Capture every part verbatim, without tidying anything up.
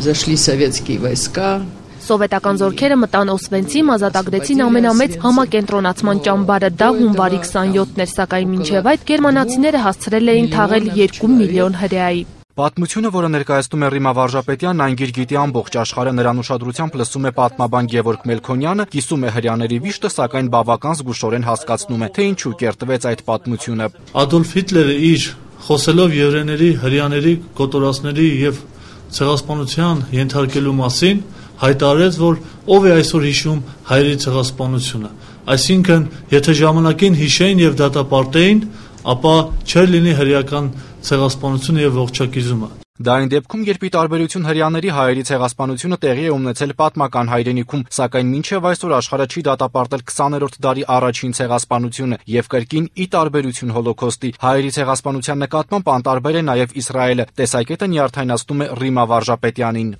Зашли советские войска. Սովետական զորքերը մտան Օսվենցիմ, ազատագրեցին ամենամեծ համակենտրոնացման ճամբարը, դա հունվարի քսանյոթն էր, սակայն մինչև այդ գերմանացիները հասցրել էին թաղել երկու միլիոն հրեայի։ Պատմությունը, որը ներկայացնում է Ռիմա Վարժապետյանն, այն գիր գիտի ամբողջ աշխարհը, նրան ուշադրությամբ լսում է պատմաբան Գևորգ Մելքոնյանը, կիսում է հրեաների վիշտը, սակայն բավական զգուշորեն հասկացնում է, թե ինչու կերտվեց այդ պատմությունը։ Ադոլֆ Հիտլերը իր խոսելով եվրեների, հրեաների, կոտորածների եւ ցեղասպանության ենթարկելու մասին հայտարարեց, որ ով է այսօր հիշում հայերի ցեղասպանությունը։ Այսինքն, եթե ժամանակին հիշեին եւ դատապարտեին, ապա չէր լինի հրեական ցեղասպանությունը եւ ողջակիզումը։ Դա այն դեպքում, երբ ի տարբերություն հրեաների հայերի ցեղասպանությունը տեղի է ունեցել պատմական հայրենիքում, սակայն մինչև այսօր աշխարհը չի դատապարտել քսաներորդ դարի առաջին ցեղասպանությունը եւ կրկին ի տարբերություն հոլոքոստի հայերի ցեղասպանության նկատմամբ անտարբեր է նաեւ Իսրայելը։ Տեսակետը նյարդայնացնում է Ռիմա Վարժապետյանին։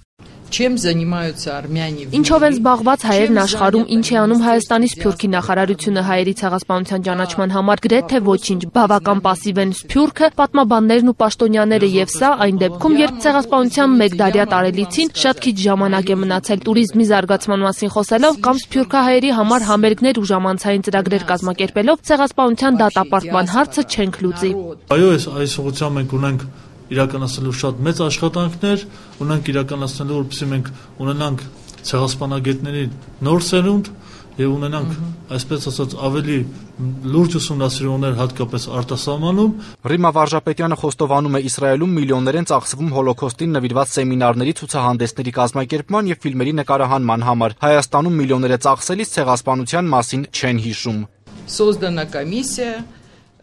Чем занимаются армяне? Ինչով են զբաղված հայերն աշխարհում, ինչ է անում Հայաստանի Սփյուռքի նախարարությունը հայերի ցեղասպանության ճանաչման համար, գրեթե ոչինչ, բավական պասիվ են Սփյուռքը, պատմաբաններն ու պաշտոնյաները եւ սա այն դեպքում, երբ ցեղասպանության մեկդարյա տարելիցին շատ քիչ ժամանակ է մնացել տուրիզմի զարգացման մասին խոսելով կամ սփյուռքահայերի համար համերգներ ու ժամանցային ծրագրեր կազմակերպելով ցեղասպանության դատապարտման հարցը չենք լուծի։ Այո, այս ուղղությամբ մենք ունենք իրականացնելու շատ մեծ աշխատանքներ, ունենք իրականացնելու, որպեսզի մենք ունենանք ցեղասպանագետների նոր սերունդ եւ ունենանք, այսպես ասած, ավելի լուրջ ուսումնասիրողներ հատկապես արտասահմանում։ Ռիմա Վարժապետյանը խոստովանում է Իսրայելում միլիոններ են ծախսվում հոլոքոստին նվիրված սեմինարների, ցուցահանդեսների կազմակերպման եւ ֆիլմերի նկարահանման համար։ Հայաստանում միլիոններ է ծախսելիս ցեղասպանության մասին չեն հիշում։ Создана комиссия.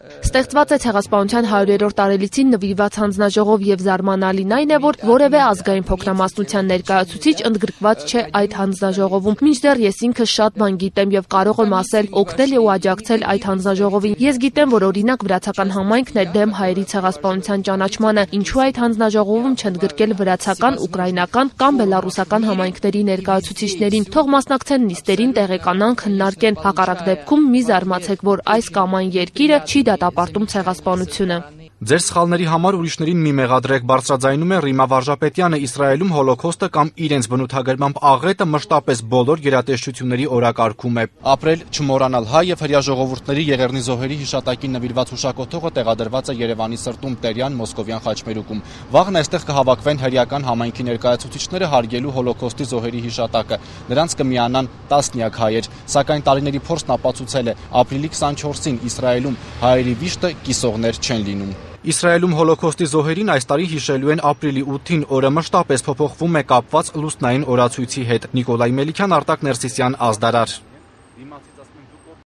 Ստեղծված է ցեղասպանության հարյուրերորդ տարելիցին նվիրված հանձնաժողով եւ զարմանալին այն է, որ որևէ ազգային փոքրամասնության ներկայացուցիչ ընդգրկված չէ այդ հանձնաժողովում։ Մինչդեռ ես ինքս շատ բան գիտեմ եւ կարող եմ ասել, օգնել ու աջակցել այդ հանձնաժողովին։ Ես գիտեմ, որ օրինակ վրացական համայնքն է դեմ հայերի ցեղասպանության ճանաչմանը, ինչու այդ հանձնաժողովում չընդգրկել վրացական, ուկրաինական կամ բելառուսական համայնքների ներկայացուցիչներին։ Թող մասնակցեն նիստերին, տեղեկանան, քննարկեն։ Հակառակ դեպքում մի զարմացեք, որ այս կամ այն երկիրը չի դատապարտում ցեղասպանությունը։ Ձեր սխալների համար ուրիշներին մի մեղադրեք, բարձրաձայնում է Ռիմա Վարժապետյանը։ Իսրայելում հոլոքոստը կամ իրենց բնութագրմամբ աղետը մշտապես բոլոր գերատեսչությունների օրակարգում է։ Ապրել, չմոռանալ հայ եւ հրեա ժողովուրդների եղեռնի զոհերի հիշատակին նվիրված հուշակոթողը տեղադրված է Երևանի սրտում Տերյան Մոսկովյան խաչմերուկում։ Վաղն այստեղ կհավաքվեն հրեական համայնքի ներկայացուցիչները հարգելու հոլոքոստի զոհերի հիշատակը։ Նրանց կմիանան տասնյակ հայեր, սակայն տարիների փորձն ապացուցել է, ապրիլի քսանչորսին Իսրայելում հայերի վիշտը կիսողներ չեն լինում։ Իսրայելում հոլոքոստի զոհերին այս տարի հիշելու են ապրիլի ութին, օրը մշտապես փոփոխվում է կապված լուսնային օրացույցի հետ։ Նիկոլայ Մելիքյան, Արտակ Ներսիսյան, Ազդարար։